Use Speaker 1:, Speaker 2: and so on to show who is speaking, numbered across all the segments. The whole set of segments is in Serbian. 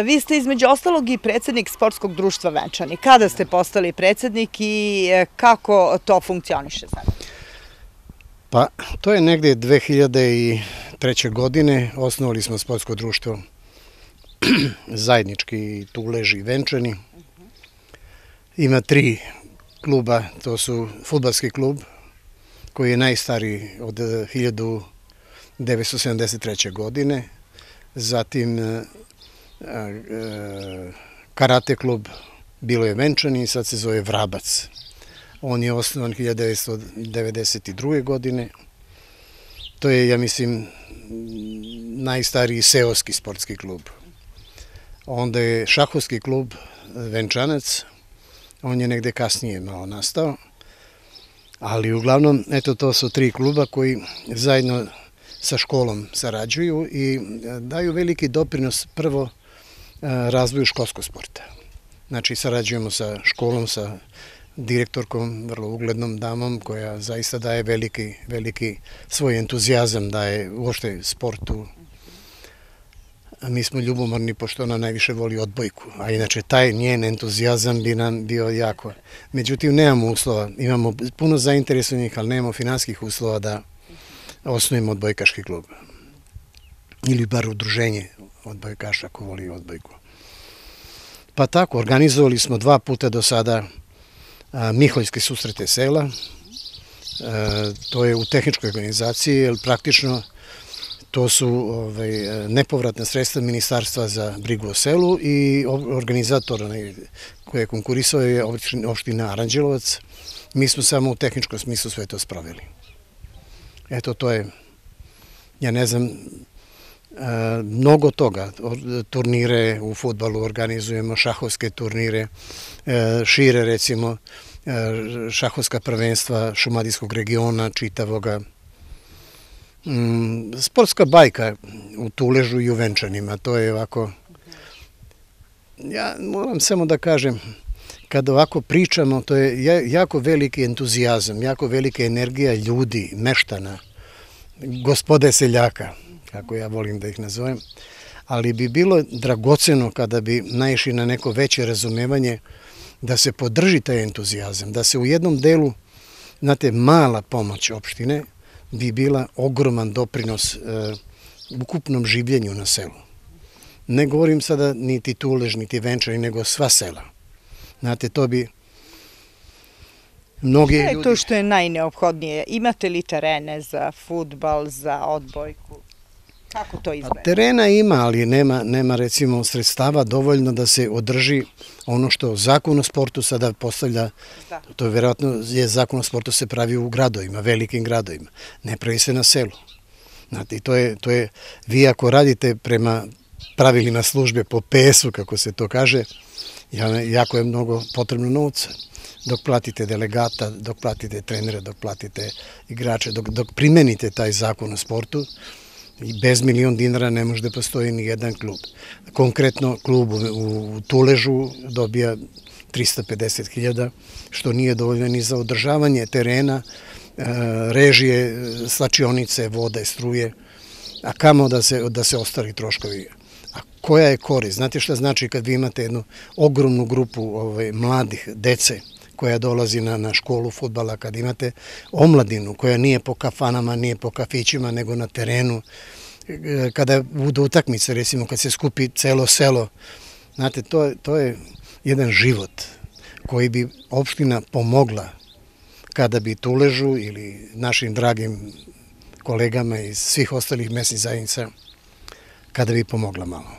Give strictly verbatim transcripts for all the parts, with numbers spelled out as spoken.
Speaker 1: Vi ste između ostalog i predsjednik Sportskog društva Venčani. Kada ste postali predsjednik i kako to funkcioniše sada?
Speaker 2: Pa, to je negdje dve hiljade treće. godine. Osnovali smo Sportsko društvo zajednički Tulež i Venčani. Ima tri kluba, to su fudbalski klub koji je najstariji od hiljadu devetsto sedamdeset treće. godine, zatim karate klub, bilo je Venčani i sad se zove Vrabac. On je osnovan hiljadu devetsto devedeset druge. godine. To je, ja mislim, najstariji seoski sportski klub. Onda je šahovski klub Venčanac, on je negde kasnije malo nastao, ali uglavnom, eto, to su tri kluba koji zajedno sa školom sarađuju i daju veliki doprinos prvo razvoju školskog sporta. Znači, sarađujemo sa školom, sa direktorkom, vrlo uglednom damom koja zaista daje veliki, veliki svoj entuzijazam, daje uopšte sportu. Mi smo ljubomorni pošto ona najviše voli odbojku, a inače taj njen entuzijazam bi nam bio jako. Međutim, nemamo uslova, imamo puno zainteresovanih, ali nemamo finanskih uslova da osnovimo odbojkaški klub. Ili bar udruženje odbojkaša ko voli odbojku. Pa tako, organizovali smo dva puta do sada Miholjske susrete sela. To je u tehničkoj organizaciji, jer praktično to su nepovratna sredstva Ministarstva za brigu o selu i organizator koji je konkurisao je opština Aranđelovac. Mi smo samo u tehničkom smislu sve to sproveli. Eto, to je, ja ne znam, mnogo toga. Turnire u fudbalu organizujemo, šahovske turnire, šire recimo šahovska prvenstva šumadijskog regiona, čitavoga. Sportska bajka u Tuležu i u Venčanima, to je ovako, ja moram samo da kažem, kada ovako pričamo, to je jako veliki entuzijazam, jako velika energija ljudi, meštana, gospode seljaka, kako ja volim da ih nazovem, ali bi bilo dragoceno kada bi naišli na neko veće razumevanje da se podrži taj entuzijazam, da se u jednom delu, znate, mala pomoć opštine bi bila ogroman doprinos ukupnom življenju na selu. Ne govorim sada niti Tulež, niti Venčani, nego sva sela. Znate, to bi mnogi ljudi...
Speaker 1: Šta je to što je najneophodnije? Imate li terene za fudbal, za odbojku? Kako to izgleda?
Speaker 2: Terena ima, ali nema recimo sredstava dovoljno da se održi ono što Zakon o sportu sada postavlja. To je vjerojatno, Zakon o sportu se pravi u gradovima, velikim gradovima. Ne pravi se na selu. Znate, to je, vi ako radite prema pravilima službe po P S-u, kako se to kaže, jako je mnogo potrebno novca. Dok platite delegata, dok platite trenere, dok platite igrače, dok primenite taj Zakon o sportu, i bez milion dinara ne može da postoji ni jedan klub. Konkretno, klub u Tuležu dobija trista pedeset hiljada, što nije dovoljno ni za održavanje terena, režije, slačionice, vode, struje, a kamo da se ostali troškovi. A koja je korist? Znate šta znači kad vi imate jednu ogromnu grupu mladih, dece, koja dolazi na školu fudbala, kad imate omladinu koja nije po kafanama, nije po kafićima, nego na terenu, kada budu utakmice, recimo kad se skupi celo selo, znate, to je jedan život koji bi opština pomogla kada bi Tuležu ili našim dragim kolegama iz svih ostalih mesnih zajednica, kada bi pomogla malo.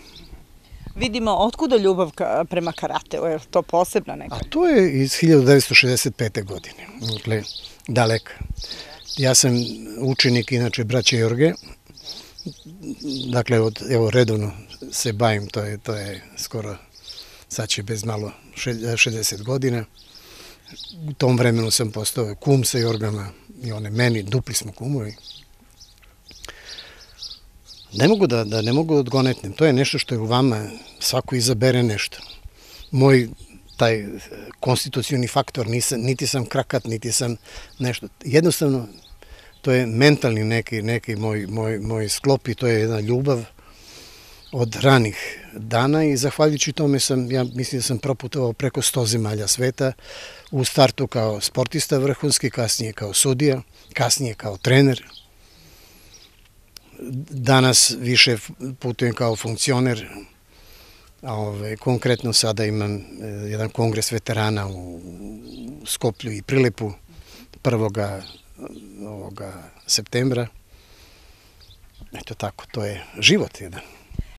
Speaker 1: Vidimo, otkuda ljubav prema karateu? Je li to posebna neka?
Speaker 2: A to je iz hiljadu devetsto šezdeset pete. godine, dakle, daleka. Ja sam učenik, inače, braće Jorge, dakle, evo, redovno se bavim, to je skoro, sad će bez malo šezdeset godina. U tom vremenu sam postao kum sa Jorgama i one meni, dupli smo kumovi. Ne mogu da ne mogu da odgonetnem. To je nešto što je u vama, svako izabere nešto. Moj taj konstitucioni faktor, niti sam krakat, niti sam nešto. Jednostavno, to je mentalni neki moj sklop i to je jedna ljubav od ranih dana i zahvaljujući tome sam, ja mislim da sam proputovao preko sto zemalja sveta, u startu kao sportista vrhunski, kasnije kao sudija, kasnije kao trener. Danas više putujem kao funkcioner, ove, konkretno sada imam jedan kongres veterana u Skoplju i Prilepu prvoga ovoga septembra. Eto tako, to je život jedan.